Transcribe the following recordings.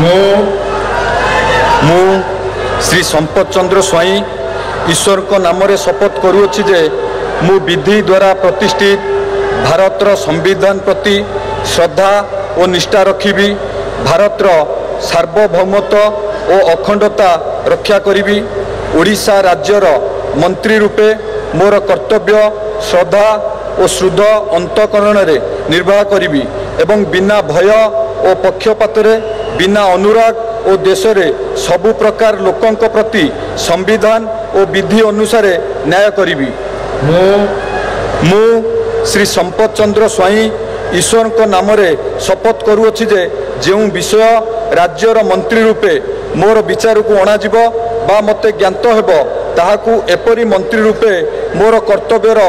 ମୁଁ ଶ୍ରୀ ସମ୍ପଦ ଚନ୍ଦ୍ର ସ୍ୱାଇଁ ଈଶ୍ୱରଙ୍କ ନାମରେ ଶପଥ କରୁଅଛି ଯେ ମୁଁ ବିଧି ଦ୍ୱାରା ପ୍ରତିଷ୍ଠିତ ଭାରତର ସମ୍ବିଧାନ ପ୍ରତି ଶ୍ରଦ୍ଧା ଓ ନିଷ୍ଠା ରଖିବି, ଭାରତର ସାର୍ବଭୌମତ୍ୱ ଓ ଅଖଣ୍ଡତା ରକ୍ଷା କରିବି। ଓଡ଼ିଶା ରାଜ୍ୟର ମନ୍ତ୍ରୀ ରୂପେ ମୋର କର୍ତ୍ତବ୍ୟ ଶ୍ରଦ୍ଧା ଓ ସୁଦୃଢ଼ ଅନ୍ତଃକରଣରେ ନିର୍ବାହ କରିବି ଏବଂ ବିନା ଭୟ ଓ ପକ୍ଷପାତରେ, ବିନା ଅନୁରାଗ ଓ ଦ୍ୱେଷରେ ସବୁ ପ୍ରକାର ଲୋକଙ୍କ ପ୍ରତି ସମ୍ବିଧାନ ଓ ବିଧି ଅନୁସାରେ ନ୍ୟାୟ କରିବି। ମୁଁ ଶ୍ରୀ ସମ୍ପଦ ଚନ୍ଦ୍ର ସ୍ୱାଇଁ ଈଶ୍ୱରଙ୍କ ନାମରେ ଶପଥ କରୁଅଛି ଯେ ଯେଉଁ ବିଷୟ ରାଜ୍ୟର ମନ୍ତ୍ରୀ ରୂପେ ମୋର ବିଚାରକୁ ଅଣାଯିବ ବା ମୋତେ ଜ୍ଞାତ ହେବ, ତାହାକୁ ଏପରି ମନ୍ତ୍ରୀ ରୂପେ ମୋର କର୍ତ୍ତବ୍ୟର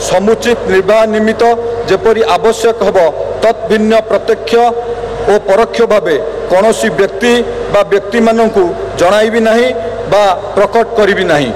ସମୁଚିତ ନିର୍ବାହ ନିମିତ୍ତ ଯେପରି ଆବଶ୍ୟକ ହେବ, ତତ୍ ଭିନ୍ନ ପ୍ରତ୍ୟକ୍ଷ ଓ ପରୋକ୍ଷ ଭାବେ କୌଣସି ବ୍ୟକ୍ତି ବା ବ୍ୟକ୍ତିମାନଙ୍କୁ ଜଣାଇବି ନାହିଁ ବା ପ୍ରକଟ କରିବି ନାହିଁ।